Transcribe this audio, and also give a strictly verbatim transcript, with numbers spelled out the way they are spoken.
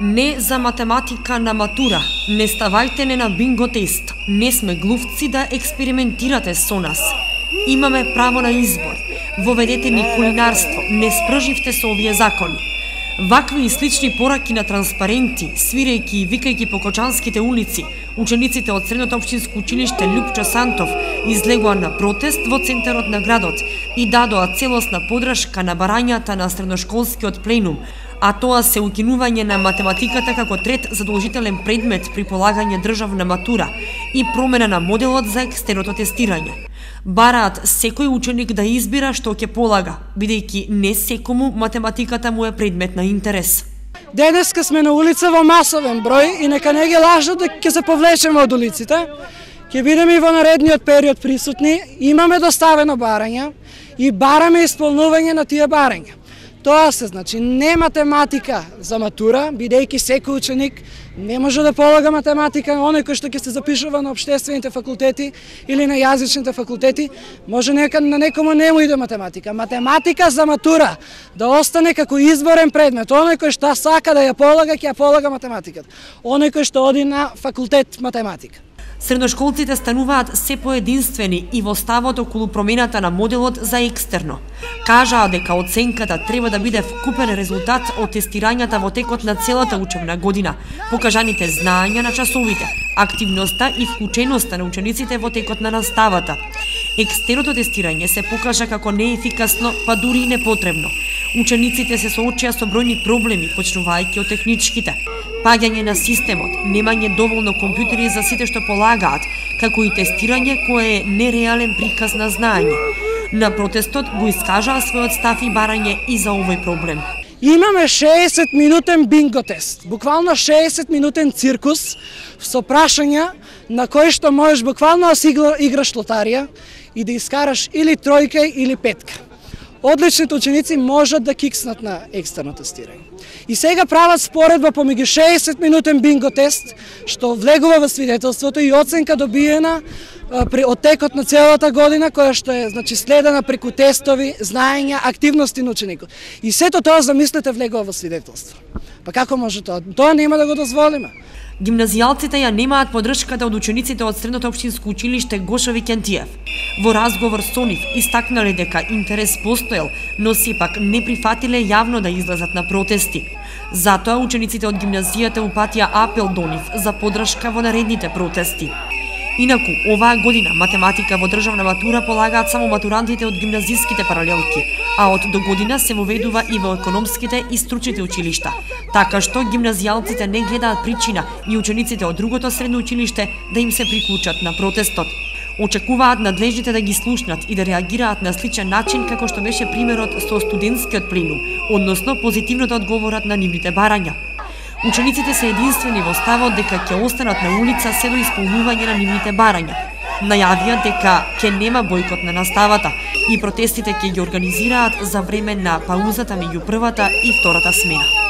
Не за математика на матура, не ставајте не на бинго тест, не сме глувци да експериментирате со нас. Имаме право на избор, воведете ни кулинарство, не спрживте со овие закони. Вакви и слични пораки на транспаренти, свирејки и викајки по кочанските улици, учениците од Средното општинско училиште Љупчо Сантов излегоа на протест во центарот на градот и дадоа целосна подршка на барањата на средношколскиот пленум, а тоа се укинување на математиката како трет задолжителен предмет при полагање државна матура и промена на моделот за екстерното тестирање. Бараат секој ученик да избира што ќе полага, бидејќи не секому математиката му е предмет на интерес. Денеска сме на улица во масовен број и нека не ги лажат дека ќе се повлечеме од улиците. Ќе бидеме и во наредниот период присутни, имаме доставено барања и бараме исполнување на тие барања. Тоа се значи не математика за матура, бидејќи секој ученик не може да полага математика, оној кој што ќе се запишува на општествените факултети или на јазичните факултети, може нека на некому не му иде математика. Математика за матура да остане како изборен предмет. Оној кој што сака да ја полага, ќе ја полага математиката. Оној кој што оди на факултет математика. Средношколците стануваат се поединствени и во ставот околу промената на моделот за екстерно. Кажаа дека оценката треба да биде вкупен резултат од тестирањата во текот на целата учебна година, покажаните знаења на часовите, активноста и вклученоста на учениците во текот на наставата. Екстерното тестирање се покажа како неефикасно, па дури и непотребно. Учениците се соочија со бројни проблеми, почнувајќи од техничките, паѓање на системот, немање доволно компјутери за сите што полагаат, како и тестирање кое е нереален приказ на знаење. На протестот го искажаа својот став и барање и за овој проблем. Имаме шеесет минутен бинго тест, буквално шеесет минутен циркус со прашања на кои што можеш буквално да си играш лотарија и да искараш или тројка или петка. Одличните ученици можат да кикснат на екстерно тестирање. И сега прават споредба помеѓу шеесет минутен бинго тест, што влегува во свидетелството и оценка добиена при оттекот на целата година, која што е значи следена преку тестови, знаења, активности на ученикот. И сето тоа, замислете, влегува во свидетелство. Па како може тоа? Тоа нема да го дозволиме. Гимназијалците ја немаат подршката од учениците од Средното општинско училиште Гошо Викентиев. Во разговор со нив истакнале дека интерес постоел, но сепак не прифатиле јавно да излезат на протести. Затоа учениците од гимназијата упатија апел до нив за подршка во наредните протести. Инаку, оваа година математика во државна матура полагаат само матурантите од гимназиските паралелки, а од до година се воведува и во економските и стручните училишта, така што гимназијалците не гледаат причина и учениците од другото средно училиште да им се приклучат на протестот. Очекуваат надлежните да ги слушнат и да реагираат на сличен начин како што беше примерот со студентскиот пленум, односно позитивно да одговорат на нивните барања. Учениците се единствени во ставот дека ќе останат на улица се до исполнување на нивните барања. Најавија дека ќе нема бојкот на наставата и протестите ќе ги организираат за време на паузата меѓу првата и втората смена.